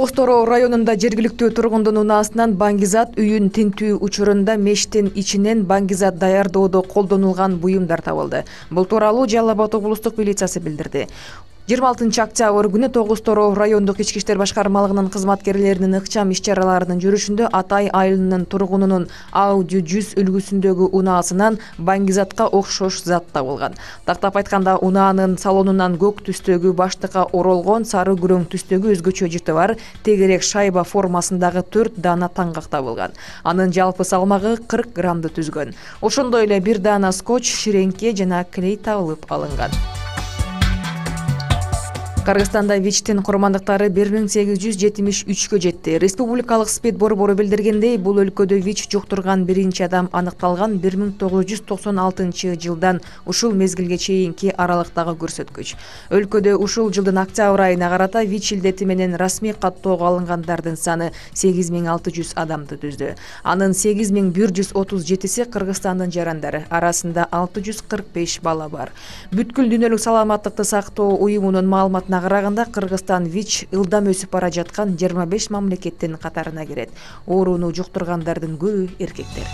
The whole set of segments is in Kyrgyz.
Тогуз Тороо районунда жергиликтүү тургундун унаасынан баңгизат үйүн тинтүү учурунда мештин ичинен баңгизат даярдоодо колдонулган буюмдар табылды. Бул тууралуу Жалал Абад облустук милициясы билдирди. 26 октябрь күнү Тогуз Тороо райондук ички иштер башкармалыгынын кызматкерлеринин ыкчам иш-чараларынын жүрүшүндө Атай айылынын тургунунун Audi 100 үлгүсүндөгү унаасынан баңгизатка окшош зат табылган. Тактап айтканда, унаанын салонунан көк түстөгү баштыкка оролгон сары күрөң түстөгү өзгөчө жыты бар тегерек шайба формасындагы 4 даана таңгак табылган. Анын жалпы салмагы 40 граммды түзгөн. Ошондой эле 1 даана скотч, ширеңке жана клей табылып алынган. Кыргызстанда ВИЧтин курмандыктары 1873кө жетти. Республикалык СПИД борбору билдиргендей, бул өлкөдө ВИЧ жуктурган биринчи адам аныкталган 1996 жылдан ушул мезгилге чейинки аралыктагы көрсөткүч. Өлкөдө ушул жылдын октябрь айына карата ВИЧ илдети менен расмий каттоого алынгандардын саны 8600 адамды түздү. Анын 8137си Кыргызстандын жарандары, арасында 645 бала бар. Бүткүл дүйнөлүк саламаттыкты сактоо уюмунун маалыматына караганда, Кыргызстан ВИЧ ылдам өсүп бара жаткан 25 мамлекеттин катарына кирет. Ооруну жуктургандардын көбү эркектер.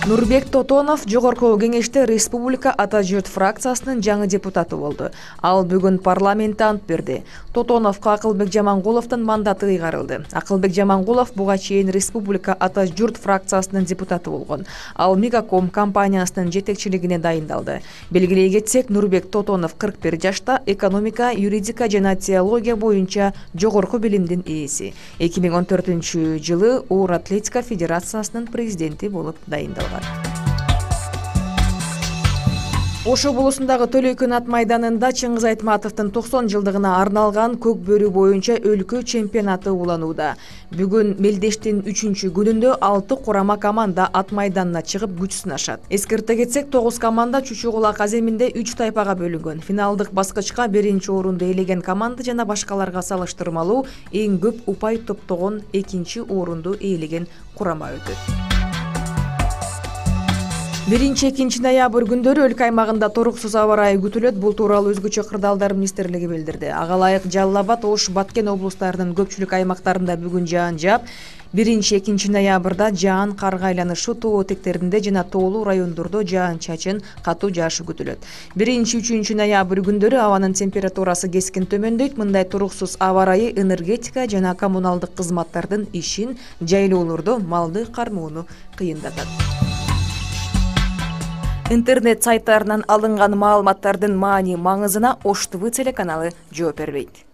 Нурбек Тотонов жогорку кеңеште Республика Ата журт фракциясынын жаңы депутаты болду. Ал бүгүн парламентте ант берди. Тотоновго Акылбек Жамангуловдун мандаты ыйгарылды. Акылбек Жамангулов буга чейин Республика Ата журт фракциясынын депутаты болгон. Ал Мегаком компаниясынын жетекчилигине дайындалды. Белгилей кетсек, Нурбек Тотонов 41 жашта, экономика, юридика жана теология боюнча жогорку билимдин ээси. 2014-жылы Оор Атлетика Федерациясынын президенти болуп дайындалган. Ош облусундагы Төлөйкөн ат майданында Чыңгыз Айтматовдун 90 жылдыгына арналган көк бөрү боюнча өлкө чемпионаты уланууда. Бүгүн мелдештин 3-күнүндө 6 курама команда ат майданына чыгып күч сынашат. Эскерте кетсек, 9 команда Чучу Кулак аземинде 3 тайпага бөлүнгөн. Финалдык баскычка 1-чи орунду ээлеген команда жана башкаларга салыштырмалуу эң көп упай топтогон 2-чи орунду ээлеген курама өтөт. 1-2 ноябрь күндөрү өлкө аймагында туруксуз аба ырайы күтүлөт. Бул тууралуу өзгөчө кырдаалдар министрлиги билдирди. Ага ылайык Жалал Абад, Ош, Баткен облустарынын көпчүлүк аймактарында бүгүн жаан жаап, 1-2 ноябрда жаан карга айланышы тоо этектеринде жана тоолуу райондордо жаан-чачын, катуу жаашы күтүлөт. 1-3 ноябрь күндөрү абанын температурасы кескин төмөндөйт. Мындай туруксуз аба ырайы энергетика жана коммуналдык кызматтардын ишин, жайлоолордо малды кармоону кыйындатат. Интернет сайттарынан алынган маалыматтардын маани маңызына Ош ТВ телеканалы жооп бербейт.